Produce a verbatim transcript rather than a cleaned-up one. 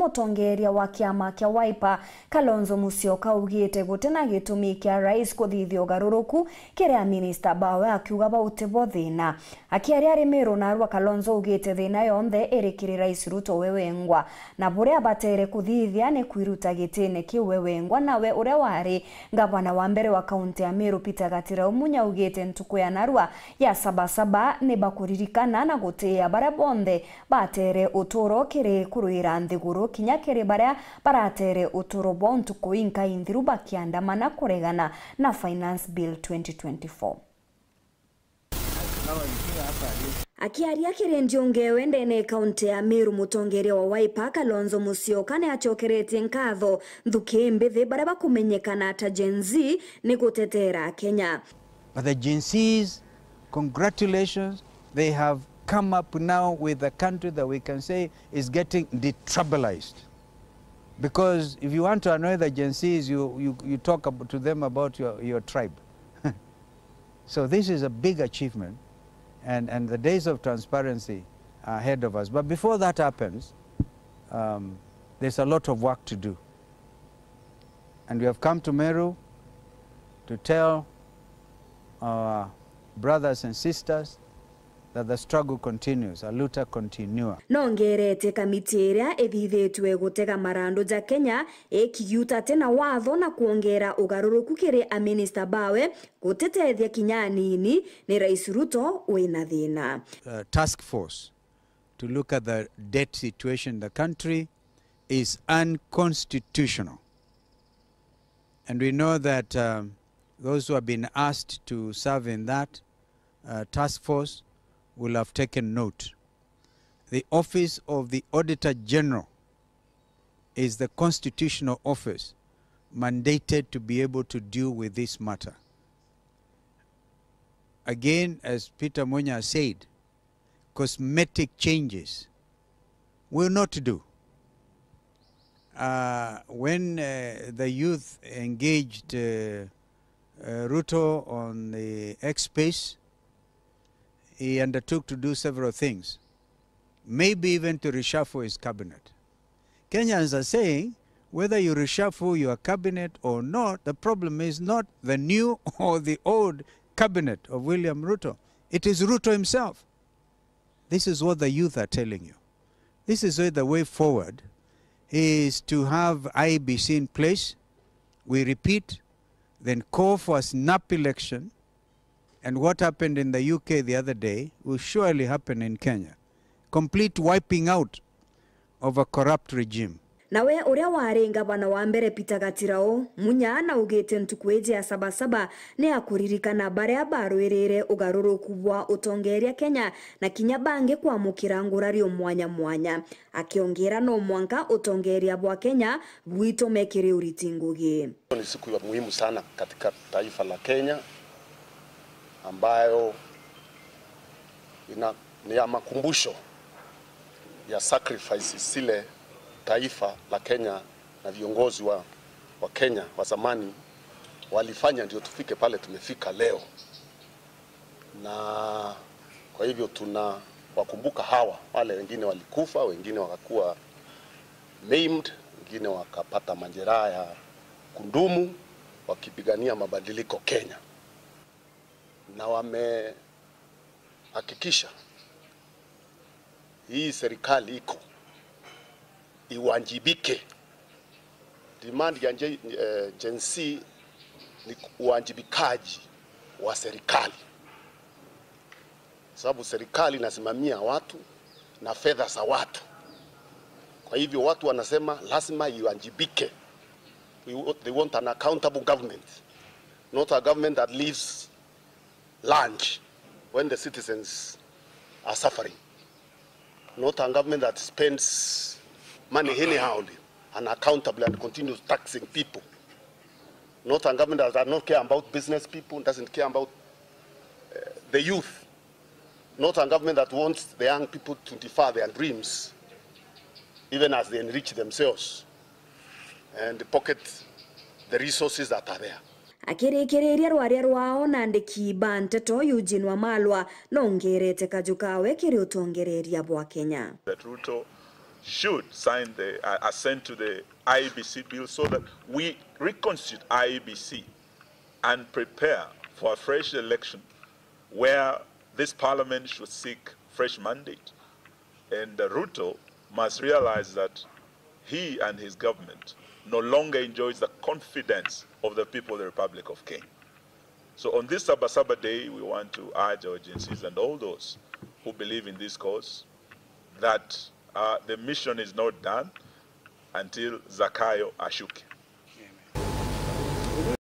Mutongeria wa kiama kia Wiper, Kalonzo Musyoka, augite guti na gitumi kia rais kuthithia ugaruruku kiri aminista bawe, akiuga bau tibo thina. Akiaria ari Meru narua, Kalonzo augite thina yonthe iri kiri Rais Ruto we wengwa, na buria abatere kuthithia ni kwiruta gitine kiu we wengwa, nawe uria wari ngavana wa mbere wa kaunti ya Meru, Peter Gatirau Munya, augite ntuku ya narua ya Sabasaba ni bakuririkana na gutiia baria bonthe batere uturo kiri kurwira nthiguru, kinya kiri baria baratere uturo bwa ntuku inkai nthiru bakiandamana kuregana na Finance Bill twenty twenty-four. Akiaria kiri Ndiungewe ndene ya kaunti ya Meru, mutongeria wa Wiper, Kalonzo Musyoka, ni acokeretie nkatho nthuki mbithi baria bakumenyekana ta Gen Z ni gutetera Kenya. But the Gen Zs, congratulations, they have come up now with a country that we can say is getting detribalized. Because if you want to annoy the Gen Zs, you, you, you talk ab-, to them about your, your tribe. So this is a big achievement, and, and the days of transparency are ahead of us. But before that happens, um, there's a lot of work to do. And we have come to Meru to tell our brothers and sisters that the struggle continues, a luta continua. Nongerete kamiti iria ithithitwe gutega marandu ja Kenya ikigiuta ati na watho na kwongera ugaruruku kiri aminista bawe gutitethia kinya anini, ni Rais Ruto wina thina. Uh, task force to look at the debt situation in the country is unconstitutional. And we know that, um, those who have been asked to serve in that, uh, task force will have taken note. The Office of the Auditor General is the constitutional office mandated to be able to deal with this matter. Again, as Peter Munya said, cosmetic changes will not do. Uh, when, uh, the youth engaged, uh, uh, Ruto on the X space, he undertook to do several things, maybe even to reshuffle his cabinet. Kenyans are saying, whether you reshuffle your cabinet or not, the problem is not the new or the old cabinet of William Ruto. It is Ruto himself. This is what the youth are telling you. This is why the way forward is to have I E B C in place, we repeat, then call for a snap election, and what happened in the U K the other day will surely happen in Kenya. Complete wiping out of a corrupt regime. Nawe uria wari ngavana wa mbere Peter Gatirau Munya naugite ntuku iji ya Sabasaba ni ya kuririkana baria barwirire ugaruruku bwa utongeria Kenya na kinya bangi kwamukira ngurario mwanya mwanya, akiongera no mwanka utongeria bwa Kenya bwitume kiri uriti ngugi. Ni siku ya muhimu sana katika taifa la Kenya ambayo ina, ni ya makumbusho ya sacrifices zile taifa la Kenya na viongozi wa, wa Kenya wa zamani walifanya ndio tufike pale tumefika leo. Na kwa hivyo tunawakumbuka hawa, wale wengine walikufa, wengine wakakuwa maimed, wengine wakapata majeraha ya kundumu wakipigania mabadiliko Kenya. Na wamehakikisha hii serikali iko iwajibike. Demand ya Gen-, eh, Gen Z ni uwajibikaji wa serikali, sababu serikali inasimamia watu na fedha za watu. Kwa hivyo watu wanasema lazima iwajibike. We wa-, they want an accountable government, not a government that leaves lunch when the citizens are suffering. Not a government that spends money anyhowly, unaccountably, and continues taxing people. Not a government that does not care about business people, doesn't care about, uh, the youth. Not a government that wants the young people to defer their dreams, even as they enrich themselves and pocket the resources that are there. Akirikiriria rwaria rwao na andiki ba nteto, Eugene Wamalwa nongerete kaju kawe kiri utongereria bwa Kenya. That Ruto should sign the, uh, assent to the I E B C bill so that we reconstitute I E B C and prepare for a fresh election where this parliament should seek fresh mandate. And, uh, Ruto must realize that he and his government no longer enjoys the confidence of the people of the Republic of Kenya. So on this Sabasaba day, we want to urge our Gen Zs and all those who believe in this cause that, uh, the mission is not done until Zakayo ashuke.